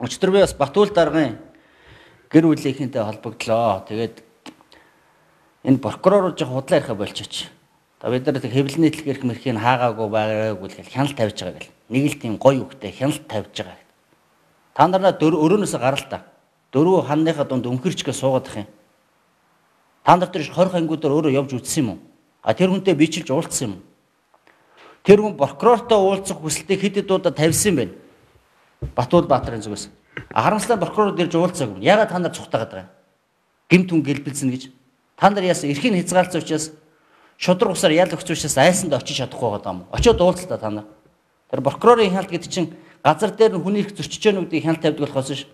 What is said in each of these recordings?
Өчтөр би бас Батүл даргын гэр бүлийнхэнтэй холбогдлоо. Тэгээд энэ прокурор жоо худлаа ярих болчихооч. За бид нар хэвлэл нийтлэг эрх мэрхийг хаагаагүй байгаагүй л хяналт тавьж байгаа гэл. Нэг л тийм гоё үгтэй хяналт тавьж байгаа. Та нараа өрөөнөөс гарал та. Дөрөв ханныхаа дунд өмхөрчгээ суугаад ах юм. Та нар тэр 20 ангиудаар өөрөө явж үтсэн юм уу? А тэр хүнтэй бичилж уулзсан юм уу? Тэр хүн прокурортой уулзах хүсэлтийг хэд удаа тавьсан юм бэ? Батүл Баатарын зүгээс. Харамсалтай прокурор ирж уулзаагүй. Ягаад та нар цухтагаад байгаа юм? Гэмт хүн гэлбэлзэн гэж. Та нар яасан эрхийн хязгаарлалт учраас шудраг усаар ял өгч учраас айсанд очиж чадахгүй байгаа юм. Очиод уулзлаа та нар. Тэр прокурорын хяналт гэдэг чинь газар дээр нь хүний их зөрчиж байгаа нүдийг хяналт тавьдаг болохоос ш.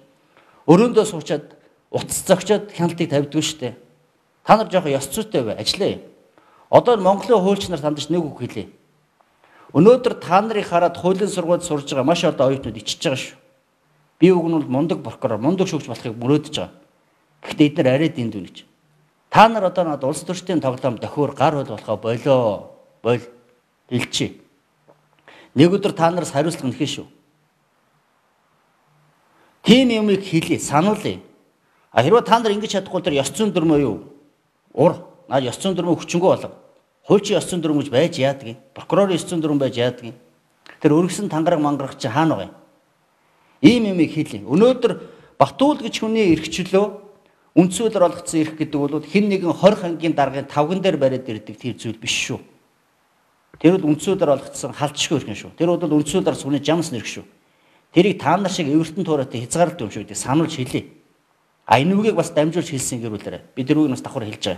Өрөөндөө суучаад утас зогчоод хяналтыг тавьдаг шүү дээ. Та нар жоохон ёс зүйтэй бай, ажиллая. Одоо Монголын хуульч нар тандж нэг үг хэлээ. Өнөөдөр та нарыг хараад хуулийн сургуульд сурж байгаа маш олон оюутнууд ичж байгаа шүү. Би үг нь бол мундаг прокурор, мундаг шүүгч болохыг мөрөөдөж байгаа. Гэхдээ эдгээр арай дэндүү гэж. Та нар одоо надад улс төрчдийн тоглоом дохиор гар хөл болохоо болоо хэлчихье. Нэг өдөр та нараас хариуцлага нэхэ шүү. Тийм юмыг хэлье, сануулъя. А хэрвээ та нар ингэж чадахгүй тэр ёс зүйн дүрмөө юу? Наад ёс зүйн дүрмөө хүчингү болго. Хуульчийн ёс зүйн дүрм гэж байж яадаг юм? Прокурорын ёс зүйн дүрм байж яадаг юм? Тэр өргөсөн тангараг мангарах чи хаана байгаа юм? Ийм юмыг хэлье. Өнөөдөр Батүл гэж хүний эрхчлөө үндсүүлэр олгоцсон эрх гэдэг бол хэн нэгэн 20 ангийн даргын тавган дээр бариад ирдэг тийм зүйл биш шүү. Тэр бол үндсүүлэр олгоцсон халдшгүй эрх шүү. Тэр бол үндсүүлэр сүний жамс нэрх шүү. Тэрийг та нар шиг эвертэн туурайтай хязгаарлалт юм шүү гэдэг сануулж хэлье. А энэ үгийг бас дамжуулж хэлсэн гэрүүлээрэ. Би тэр үгийг бас давхар хэлж байгаа.